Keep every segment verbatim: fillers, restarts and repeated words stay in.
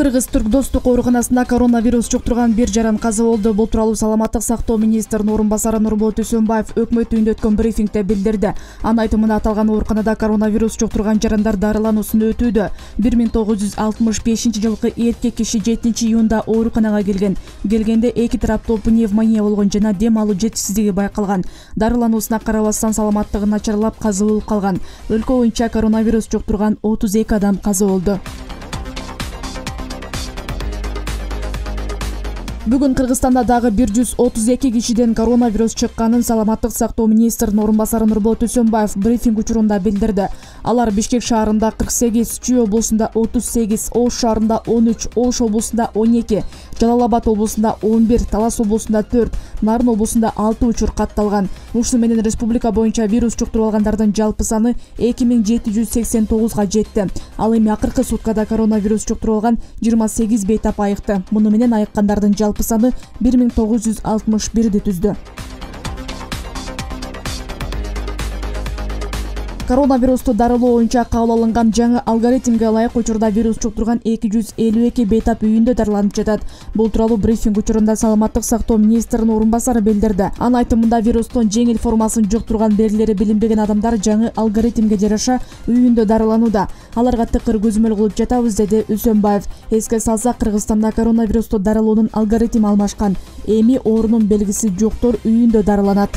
Кыргыз Түрк достук ооруканасында коронавирус жуктурган бир жаран каза болду. Бул тууралуу саламаттык сактоо министринин орун басары Нурболот Үсөнбаев өкмөт үйүндө өткөн брифингде билдирди. Анын айтымында аталган ооруканада коронавирус жуктурган жарандар дарылануусун өтүүдө. бир миң тогуз жүз алтымыш бешинчи жылкы эркек киши жетинчи июнда ооруканага келген. Келгенде эки тараптуу пневмония болгон жана дем алуу жетишсиздиги байкалган. Дарылануусуна карабастан саламаттыгы начарлап каза болуп калган. Өлкө боюнча коронавирус жуктурган отуз эки адам каза болду. Бүгүн Кыргызстанда дагы бир жүз отуз эки кишиден коронавирус чыкканын саламаттык сактоо министринин орун басары Нурболот Үсөнбаев брифинг учурунда билдирди. Алар Бишкек шаарында кырк сегиз, Чүй облусунда отуз сегиз, Ош шаарында он үч, Ош облусунда он эки, Жалал Абад облусунда он бир, Талас облусунда төрт, Нарын облусунда алты учур катталган. Ушуну менен республика боюнча вирус жуктуруп алгандардын жалпы саны эки миң жети жүз сексен тогузга жетти. Ал эми акыркы суткада коронавирус жуктуруп алган жыйырма сегиз бейтап айыкты. Муну менен айыккандардын жалпы саны бир миң тогуз жүз алтымыш бирди түздү. Коронавирусту дарылоо боюнча кабыл алынган жаңы алгоритмге ылайык учурда вирус жуктурган эки жүз элүү эки бейтап үйүндө дарыланып жатат. Бул тууралуу брифинг учурунда саламаттык сактоо министринин орун басары билдирди. Анын айтымында вирустун жеңил формасын жуктурган белгилери билинбеген адамдар жаңы алгоритмге жараша үйүндө дарыланууда. Аларга тыкыр көзөмөл кылып жатабыз, деди Үсөнбаев. Эске салсак, Кыргызстанда коронавирусту дарылоонун алгоритми алмашкан. Эми оорунун белгиси жоктор үйүндө дарыланат.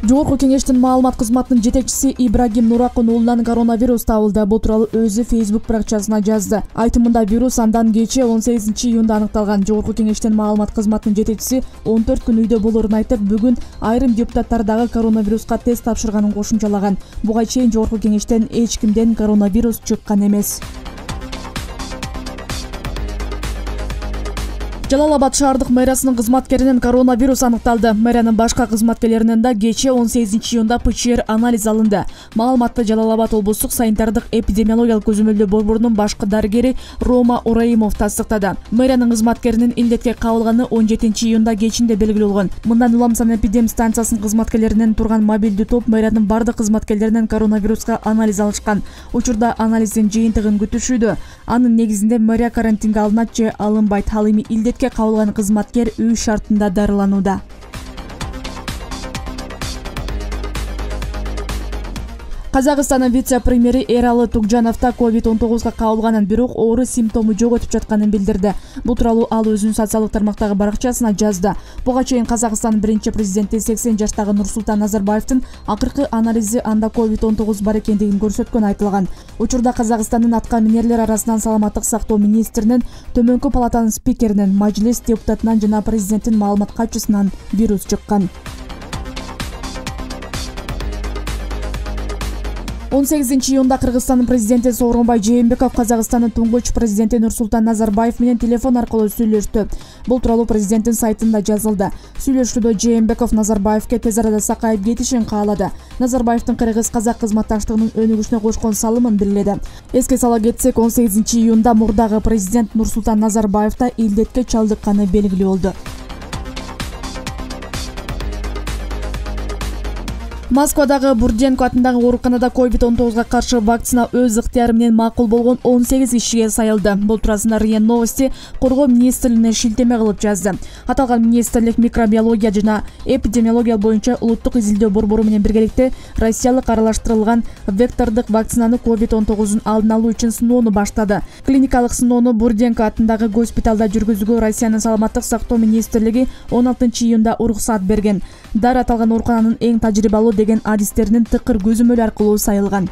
Жогорку кеңештин маалымат кызматынын жетекчиси Ибрагим Нуракун уулунан коронавирус табылды. Бул тууралуу өзү Facebook баракчасына жазды. Айтымында вирус андан кечээ он сегизинчи июнда аныкталган. Жогорку кеңештин маалымат кызматынын жетекчиси он төрт күн үйдө болорун айтып, бүгүн айрым депутаттар дагы коронавируска тест тапшырганын кошумчалаган. Буга чейин Жогорку кеңештен эч кимден коронавирус чыккан эмес. Жалал Абад шаардык мэриясынын кызматкеринен коронавирус аныкталды. Мэриянын башка кызматкерлеринен да кечээ он сегизинчи июнда ПЧР анализ алынды. Маалыматты Жалал Абад облустук санитардык эпидемиологиялык көзөмөлдөө борборунун башкы дарыгери Рома Ураимов тастыктады. Мэриянын кызматкеринин илдетке кабылганы он жетинчи июнда кечинде белгилүү болгон. Мындан улам санэпидем станциясынын кызматкерлеринен турган мобилдүү топ мэриянын бардык кызматкерлеринен коронавируска анализ алышкан. Учурда анализдин жыйынтыгын күтүшүүдө. Анын негизинде мэрия карантинге алынат же алынбайт. Ал эми илдет кабылган кызматкер үй шартында дарыланууда. Казакстандын вице-премьери Эралы Тугжановда ковид он тогузга кабылганын, бирок оору симптому жок өтүп жатканын билдирди. Бул тууралуу ал өзүнүн социалдык тармактагы баракчасына жазды. Буга чейин Казакстандын биринчи президенти сексен жаштагы Нурсултан Назарбаевдин акыркы анализи анда ковид он тогуз бар экендигин көрсөткөн айтылган. Учурда Казакстандын атка минерлер арасынан саламаттык сактоо министринин, Төмөнкү палатанын спикеринин, Majlis депутатынан жана президенттин маалымат катчысынан вирус чыккан. он сегизинчи июнда Кыргызстандын президенти Сооронбай Жээнбеков Казакстандын туңгуч президенти Нурсултан Назарбаев менен телефон аркылуу сүйлөштү. Бул тууралуу президенттин сайтында жазылды. Сүйлөшүүдө Жээнбеков Назарбаевке тез арада сакайып кетишин каалады. Назарбаевдин кыргыз-казак кызматташтыгынын өнүгүшүнө кошкон салымын бирледи. Эске сала кетсек, он сегизинчи июнда мурдагы президент Нурсултан Назарбаев да илдетке чалдыкканы белгилүү болду. Москвадагы Бурденко атындагы ооруканада ковид он тогузга каршы вакцина өз ыктыяры менен макул болгон он сегиз кишиге сайылды. Бул туурасында РИА Новости коргоо министрлигине шилтеме кылып жазды. Аталган министрлик микробиология жана эпидемиология боюнча улуттук изилдөө борбору менен биргеликте россиялык аралаштырылган вектордук вакцинаны ковид он тогузун алдын алуу үчүн сыноону баштады. Клиникалык сыноону Бурденко атындагы госпиталда жүргүзүүгө Россиянын саламаттык сактоо министрлиги он алтынчы июнда уруксат берген. Дары аталган оорукананын эң тажрыйбалуу деген адистеринин тыкыр көзөмөл аркылуу сайылган.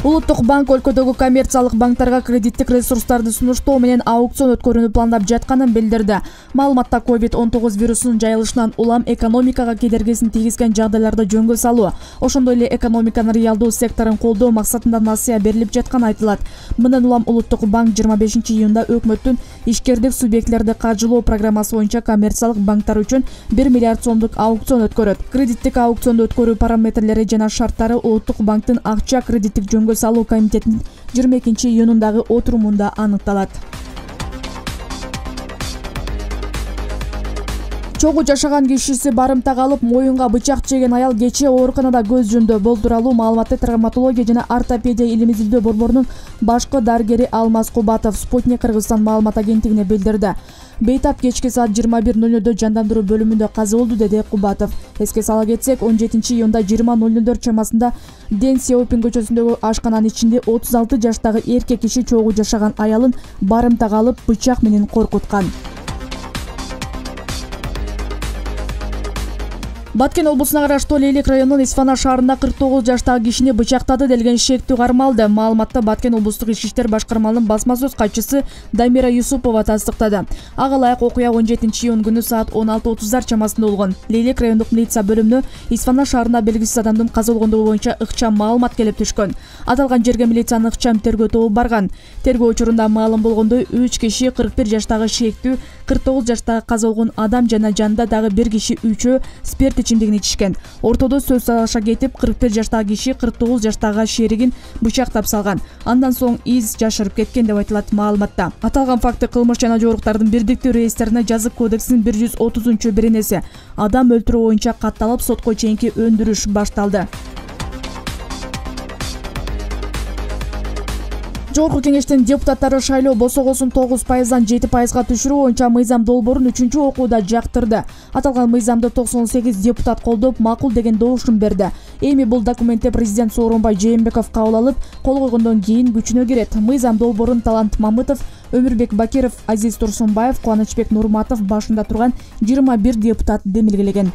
Улуттук банк өлкөдөгү коммерциялык банктарга кредиттик ресурстарды сунуштоо менен аукцион өткөрүүнү пландап жатканын билдирди. Маалыматта ковид он тогуз вирусунун жайылышынан улам экономикага кедергисин тийгизген жагдайларды жөнгө салуу, ошондой эле экономиканын реалдуу секторун колдоо максатында насыя берилип жатканы айтылат. Мындан улам Улуттук банк жыйырма бешинчи июнда өкмөттүн ишкердик субъектилерди каржылоо программасы боюнча коммерциялык банктар үчүн бир миллиард сомдук аукцион өткөрөт. Кредиттик аукционду өткөрүү параметрлери жана шарттары Улуттук банктын акча кредиттик жөнгө салуу комитетинин жыйырма экинчи июнундагы отурумунда аныкталат. Чогуу жашаган кишиси барымтага алып моюнга бычак жеген аял кечээ ооруканада көз жумду. Бул тууралуу маалыматты травматология жана ортопедия илим изилдөө борборунун башкы дарыгери Алмаз Кубатов Спутник Кыргызстан маалымат агенттигине билдирди. Бейтап кечки саат жыйырма бир ноль нольдө жандандыруу бөлүмүндө каза болду, деди Кубатов. Эске сала кетсек, он жетинчи июнда жыйырма ноль нольдор чамасында Дэн Сяопин көчөсүндөгү ашкананын ичинде отуз алты жаштагы эркек киши чогуу жашаган аялын барымтага алып бычак менен коркуткан. Баткен облусуна караштуу Лейлик районунун Исфана шаарында кырк тогуз жаштагы кишини бычактады делген шектүү кармалды. Маалыматты Баткен облустук ички иштер башкармалыгынын басма сөз катчысы Дамира Юсупова тастыктады. Ага ылайык окуя он жетинчи июнь күнү саат он алты отуздар чамасында болгон. Лейлик райондук милиция бөлүмүнө Исфана шаарында белгисиз адамдын каза болгондугу боюнча ыкчам маалымат келип түшкөн. Аталган жерге милициянын ыкчам тергөө тобу барган. Тергөө учурунда маалым болгондой үч киши кырк бир жаштагы шектүү, кырк тогуз жаштагы каза болгон адам жана жанында дагы бир киши үчөө спирт ичимдигин ичишкен. Ортодо сөз талашка кетип, кырк бир жаштагы киши кырк тогуз жаштагы шеригин бычактап салган. Андан соң из жашырып кеткен деп айтылат маалыматта. Аталган факты кылмыш жана жоруктардын бирдиктүү реестрине жазык кодексинин бир жүз отузунчу беренеси адам өлтүрүү боюнча катталып, сотко чейинки өндүрүш башталды. Жогорку кеңештин депутаттары шайлоо босогосун тогуз пайыздан жети пайызга түшүрүү боюнча мыйзам долбоорун үчүнчү окууда жактырды. Аталган мыйзамды токсон сегиз депутат колдоп, макул деген добушун берди. Эми бул документте президент Сооронбай Жээнбеков кабыл алып, кол койгондон кийин күчүнө кирет. Мыйзам долбоорун Талант Мамытов, Өмүрбек Бакиров, Азиз Турсунбаев, Кубанычбек Нурматов башында турган жыйырма бир депутат демилгелеген.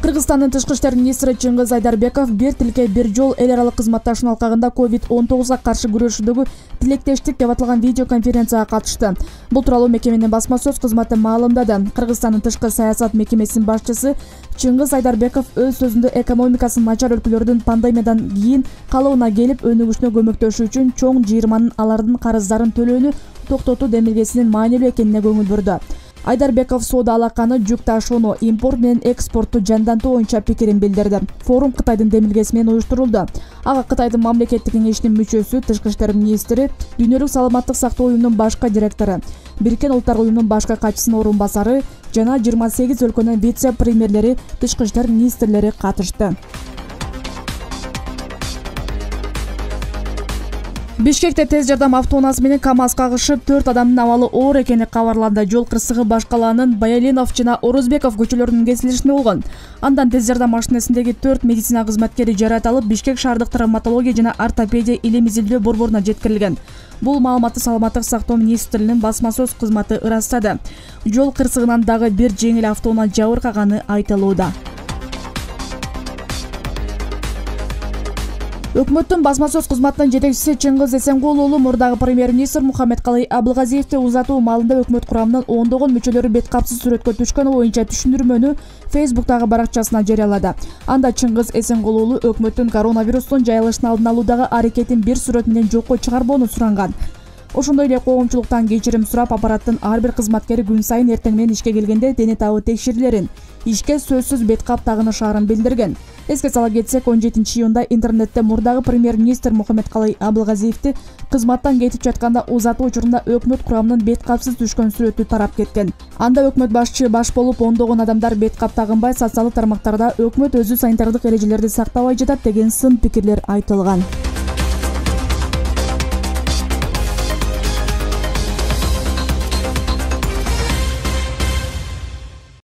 Кыргызстандын тышкы иштер министри Чыңгыз Айдарбеков бир тилке бир жол эл аралык кызматташуунун алкагында ковид он тогузга каршы күрөшүүдөгү тилектештик деп аталган видеоконференцияга катышты. Бул тууралуу мекеменин басма сөз кызматы маалымдады. Кыргызстандын тышкы саясат мекемесинин башчысы Чыңгыз Айдарбеков өз сөзүндө экономикасы начар өлкөлөрдүн пандемиядан кийин калыбына келип өнүгүшүнө көмөктөшүү үчүн чоң жыйырманын алардын карыздарын төлөөнү токтотуу демилгесинин маанилүү экенине көңүл бурду. Айдарбеков соода алаканы, жүк ташууну, импорт менен экспортту жандантуу боюнча пикирин билдирди. Форум Кытайдын демилгеси менен уюштурулду. Ага Кытайдын мамлекеттик кеңешинин мүчөсү, тышкы иштер министри, Дүйнөлүк саламаттык сактоо уюмунун башкы директору, Бириккен Улуттар уюмунун башкы катчысынын орун басары жана жыйырма сегиз өлкөнүн вице-премьерлери, тышкы иштер министрлери катышты. Бишкекте тез жардам автоунаасы менен КАМАЗ кагышып, төрт адамдын абалы оор экени кабарланды. Жол кырсыгы Башкалаанын Баяленов жана Орозбеков көчөлөрүнүн кесилишинде болгон. Андан тез жардам машинесиндеги төрт медицина кызматкери жаратылып, Бишкек шаардык травматология жана ортопедия илим изилдөө борборуна жеткирилген. Бул маалыматты саламаттык сактоо министрлигинин басма сөз кызматы ырастады. Жол кырсыгынан дагы бир жеңил автоунаа жабыркаганы айтылууда. Өкмөттүн басма сөз кызматынын жетекчиси Чыңгыз Эсенгул уулу мурдагы премьер-министр Мухаммедкалый Абылгазиевди узатуу маалында өкмөт курамынын ондогон мүчөлөрү бет капсыз сүрөткө түшкөнү боюнча түшүндүрмөнү Фейсбуктагы баракчасына жарыялады. Анда Чыңгыз Эсенгул уулу өкмөттүн коронавирустун жайылышын алдын алуудагы аракетин бир сүрөт менен жокко чыгарбоону суранган. Ошондой эле коомчулуктан кечирим сурап, аппараттын ар бир кызматкери күн сайын эртең менен ишке келгенде дене табы текшерилерин, ишке сөзсүз бет кап тагынышаарын билдирген. Эске сала кетсек, он жетинчи июнда интернетте мурдагы премьер-министр Мухаммедкалый Абылгазиевди кызматтан кетип жатканда узатуу учурунда өкмөт курамынын бет капсыз түшкөн сүрөтү тарап кеткен. Анда өкмөт башчы баш болуп, ондогон адамдар бет кап тагынбай, социалдык тармактарда өкмөт өзү санитардык эрежелерди сактабай жатат деген сын пикирлер айтылган.